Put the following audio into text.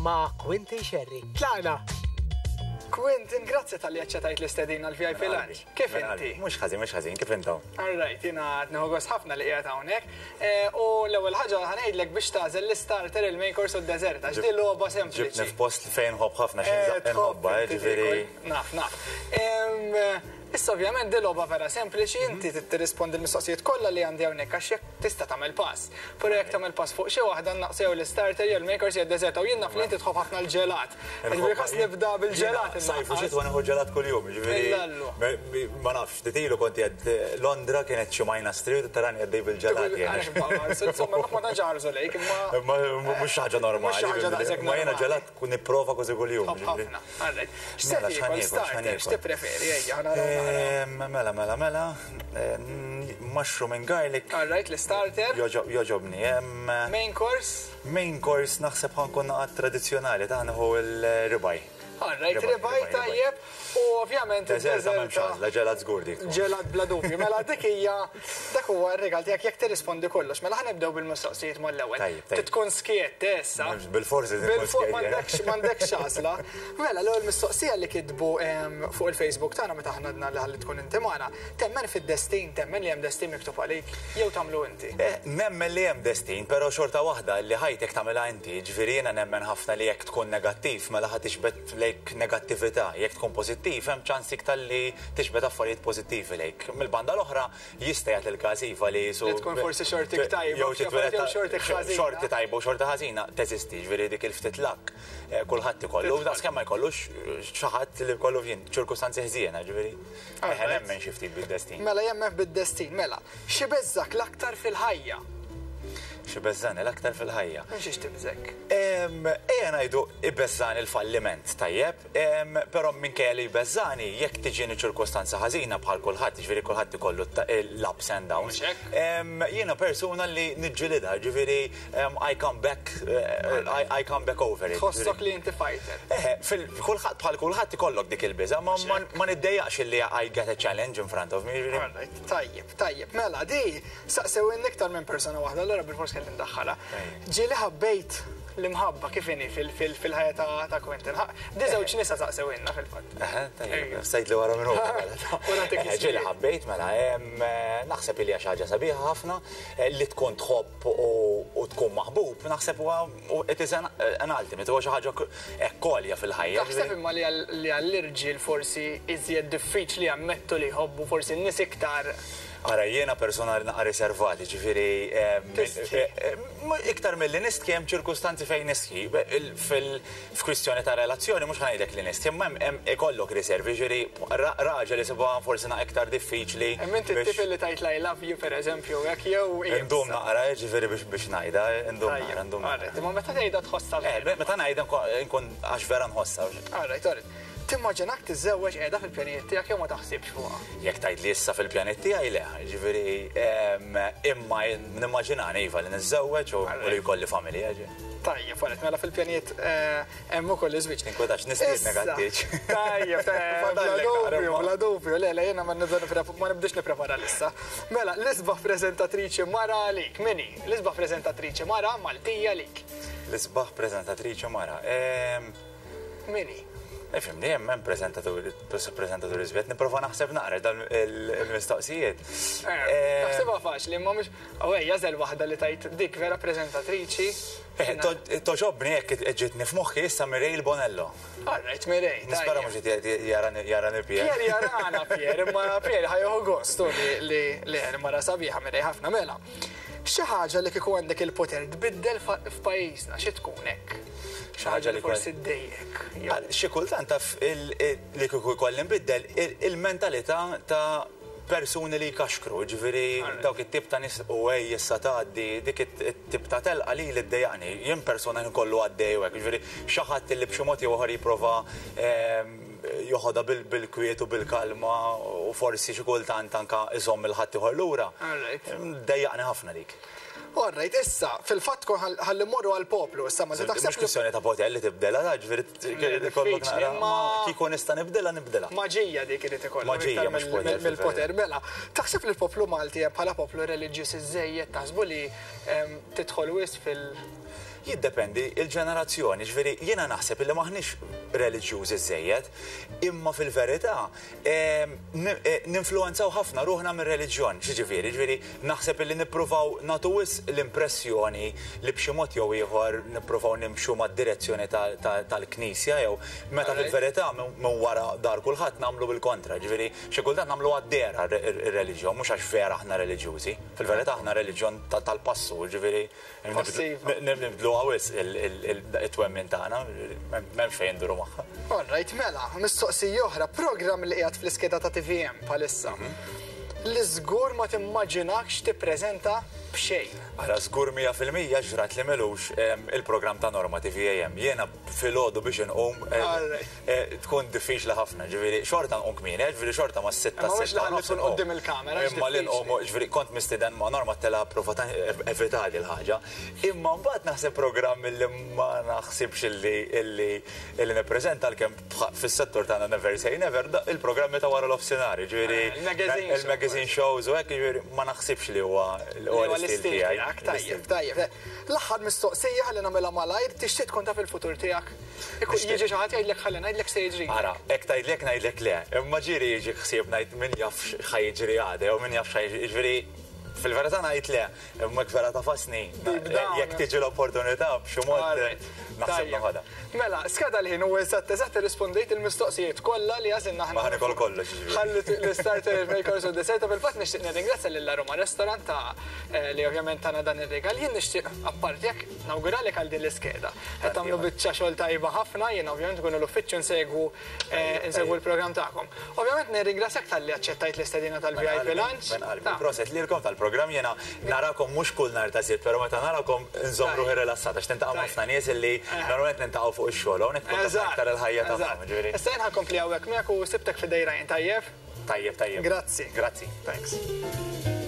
ma' Quinton Scerri. Tlaqna! Quinton, grazzi talli aċċettajt l-istedina l-VIP Lunch. Kif inti? Mhux ħażin, mhux ħażin, kif intom? All right, jiena qed nieħu gost ħafna li qiegħed hawnhekk. Eh, u l-ewwel ħaġa ħa ngħidlek biex tagħżel l-istarter, il-main course u d-dessert, għax di logħba sempliċi. Ġibtni f'post fejn nħobb ħafna xi eh, nħobba, eh, ġifieri. Naf, naf. Issa ovvjament di logħba vera sempliċi, inti trid tirrispondi l-mistoqsijiet kollha li għandi hawnhekk għax jekk tista' tagħmel pass. Però jekk tagħmel pass fuq xi waħda nnaqqsu jew l-istarter jew l-main course jew d-dessert u jien naf li inti tħobb ħafna l-ġelat. Ġifieri ħass nibda bil-ġelat. Sajf u xitwa nieħu ġelat kuljum, ġifieri. Ma nafx, ftit ilu kont qiegħed Londra kienet xi minus 3 u tarani għaddej bil-ġelat. Insomma, ma tantx ħarsu lejk, imma. Mhux xi ħaġa normali. Ma jiena ġelat nipprova kważi kuljum. Ħafna. X'se tiekol starter, x'tippreferi, ejja ħa naraw naqra. Mela, mela, mela, mushroom and garlic. All right, l-istarter. Joġobni. Main course? Main course naħseb ħa nkun naqgħad tradizzjonali ta' nieħu l-ribeye. All right, ribeye tajjeb u ovvjament id-deżerta m'hemmx għażla, ġelat żgur dik. Ġelat bla dubju. Mela dik hija dak huwa r-rigal tiegħek jekk tirrispondi kollox. Mela ħa nibdew bil-mistoqsijiet mal-ewwel. Trid tkun skiet issa. Bil-forsi tkun skiet. M'għandekx m'għandekx għażla. Mela l-ewwel mistoqsija li kitbu fuq il-Facebook tagħna meta aħna għedna li ħalli tkun inti magħna, temmen fid-destin, temmen li hemm destin miktub għalik jew tagħmlu inti? Nemmen li hemm destin, però xorta waħda li ħajtek tagħmilha inti, jiġifieri jiena nemmen ħafna li jekk tkun negattiv mela ħa tiġbed lejk negattività, jekk tkun pożittiv hemm ċans iktar li tiġbed affarijiet pożittivi lejk. Mill-banda l-oħra jista' jagħti l-każ iva li su. Li tkun forsi xortik tajba jew titwieled jew xortik ħażina. Xorti tajba u xorti ħażina teżisti, jiġifieri dik il-ftit luck kulħadd ikollu, daqskemm ma jkollux xi ħadd li jkollu f'jien ċirkustanzi ħżiena, jiġifieri eħe nemmen xi ftit bid-destin. Mela jemmen bid-destin, mela. X'ibeżżgħek l-aktar fil-ħajja? X'ibeżżagħni l-aktar fil-ħajja? Minn xiex tibżgħek? Ejja ngħidu ibeżżagħni l-falliment, tajjeb? Però minkejja li jbeżżagħni, jekk tiġini ċirkostanza ħażina bħal kulħadd, jiġifieri kulħadd ikollu l-ups and downs, jiena persuna li niġġilidha, jiġifieri I come back, I come back over it. Tħossok li inti fighter. Eħe, kulħadd bħal kulħadd ikollok dik il-biża', ma ma niddejjaqx li I get a challenge in front of me, jiġifieri. All right, tajjeb, tajjeb. Mela, di saqsewilni iktar minn persuna waħda, allura bilfors kelli ndaħħalha. Ġieli ħabbejt L-imħabba kif inhi fil-ħajja ta' Quentin? Di żewġ nisa saqsewilna fil-fatt. Eħe, tajjeb, sejt li wara minn hu. Ġieli ħabbejt mela, naħseb li hija xi ħaġa sabiħa ħafna li tkun tħobb u tkun maħbub, naħseb huwa it is an ultimate, huwa xi ħaġa hekk għolja fil-ħajja. Taħseb imma li għall-irġiel forsi iżjed diffiċli jammettu li jħobbu forsi n-nies iktar. Ara, jiena persuna naqra riservat, jiġifieri Iktar milli nistħi hemm ċirkustanzi fejn nistħi. F'kwistjoni ta' relazzjoni mhux ħa ngħidlek li nistħi, imma hemm ikollok riservi, jiġifieri raġel isibha forsi naqra iktar diffiċli. Imma inti t-tip li tgħid l-I love you pereżempju hekk jew iebsa? Indum naqra, jiġifieri biex ngħidha, indum naqra, indum naqra. Imma meta tgħidha tħossha vera? Eh, meta ngħidha nkun għax vera nħossha. All right, all right. Timmaġinak tiżżewweġ qiegħda fil-pjanijiet tiegħek jew ma taħsibx fuqha? Jekk tgħidli issa fil-pjanijiet tiegħi le, jiġifieri imma nimmaġinani iva li niżżewweġ u li jkolli familja. Tajjeb, għalet, mela fil-pjanijiet hemm ukoll iż-żwieġ. Tinkwetax, nistiednek għat-tieġ. Tajjeb, bla dubju, bla dubju, le, le, jiena ma nibdiex nipprepara lissa. Mela, l-isbaħ preżentatriċi mara għalik, min hi? L-isbaħ preżentatriċi mara Maltija għalik. L-isbaħ preżentatriċi mara. Min hi? Ifhimni, hemm hemm preżentaturi, preżentaturi żviet, nipprova naħseb naqra dan il-mistoqsijiet. Eh, naħsibha faċli, imma mhux u ejja żel waħda li tajt dik vera preżentatriċi. Eh, toġobni hekk ġietni f'moħħi issa Mireille Bonello. All right, Mireille. Nispera mhux qed jarani Pierre. Pierre jarana Pierre, imma Pierre ħajħu gostu li li mara sabiħa Mireille ħafna mela. Xi ħaġa li kieku għandek il-poter tbiddel f'pajjiżna xi tkun hekk? Xi ħaġa li forsi ddejjek. Xi kultant taf li kieku jkolli nbiddel il-mentalità ta' persuni li jkaxkru, ġifieri dawk it-tip ta' nies u ej issa tgħaddi, dik it-tip ta' telqa lili ddejjaqni. Jien persuna ħin kollu għaddej u hekk, ġifieri xi ħadd li b'xi mod jew ieħor jipprova joħodha bil-kwiet u bil-kalma u forsi xi kultant anke iżomm 'il ħaddieħor lura. Ddejjaqni ħafna dik. All right, issa, fil-fatt tkun ħalli mmorru għall-poplu issa ma taħseb. Mhux kwistjoni ta' poter li tibdilha, ta' ġifieri ikollok naqra. Kieku nista' nibdilha, nibdilha. Maġija dik irid ikollok. Maġija mhux poter. Mill-poter, mela. Taħseb li l-poplu Malti bħala poplu reliġjuż iżżejjed taħsbu li tidħol wisq fil- Jiddependi il-ġenerazzjoni, ġifieri jiena naħseb li maħniex reliġjużi żejjed, imma fil-verità ninfluwenzaw ħafna ruħna mir-reliġjon. X'jiġifieri? Ġifieri naħseb li nippruvaw nagħtu wisq l-impressjoni li b'xi mod jew ieħor nippruvaw nimxu mad-direzzjoni tal-Knisja jew meta fil-verità minn wara dar kulħadd nagħmlu bil-kontra. Ġifieri xi kultant nagħmlu għad-dehra r-reliġjon mhux għax vera aħna reliġjużi. Fil-verità aħna reliġjon tal-passu, ġifieri nibdluha wisq it-twemmin tagħna, m'hemmx fejn induru magħha. All right, mela, mistoqsija oħra, programm li qiegħed fl-iskeda ta' TVM bħalissa. Li żgur ma timmaġinakx tippreżenta b'xejn. Ara, żgur 100% ġrat li m'ilux il-programm ta' Norma TVAM. Jiena filgħodu biex inqum tkun diffiċli ħafna, ġifieri xorta nqum kmieni, ġifieri xorta mas-6, Imma mhux 6 li nofs tkun inqum. quddiem il-kamera, Imma li diffiċli. nqum, ġifieri kont mistieden ma' Norma tela prova ta' evitali l-ħaġa. Imma mbagħad naħseb programm li ma naħsibx illi nippreżenta għalkemm fis-settur tagħna never say never, il-programmi ta' wara l-offsinhar, ġifieri Il-magazine show. il-magazine shows u hekk, ġifieri ma naħsibx li huwa Li huwa l-istil l-istil tiegħi. tiegħek, tajjeb, tajjeb. L-aħħar mistoqsija ħalli nagħmilha malajr, tixtieq tkun taf il-futur tiegħek. Ikun Nixtieq. jiġi xi ħadd jgħidlek ħalli ngħidlek se jiġri. Ara, hekk tgħidlek ngħidlek le, imma ġieli jiġi ħsieb ngħid min jaf x'ħa jiġri għada jew min jaf x'ħa jiġri, ġifieri fil-verità ngħid le, imma jekk vera tafasni, Deep down. jekk tiġi l-opportunità b'xi mod Alright. naħseb Tajjeb. noħodha. Mela, skada l-ħin u eżatt eżatt irrispondejt il-mistoqsijiet kollha li għażilna aħna. Ma ħa nikol kollox, ġifieri. Ħalli l-starter, il-main course u d-dessert, fil-fatt nixtieq nirringrazzja lil Roma Restaurant ta' li ovvjament tana dan ir-rigal. Jien nixtieq apparti jekk nawguralek għal din l-iskeda. Qed tagħmlu biċċa xogħol tajba ħafna, jien ovvjament nkunu l-uffiċċju nsegwu l-programm tagħkom. Ovvjament nirringrazzjak talli aċċettajt l-istedina tal-VIP Lunch. Men qalbi, proset lilkom tal-programm jiena narakom mhux kull nhar ta' Sibt, però meta narakom nżomm ruħi rilassata għax tintaqa' ma' ħafna nies illi normalment nintaqgħu fuq ix-xogħol, hawnhekk tkun taf aktar il-ħajja tagħhom, ġifieri. Issa jien ħa nkompli hawnhekk miegħek u sibtek f'idejra jien tajjeb. Tajjeb, tajjeb. Grazzi. Grazzi. Thanks.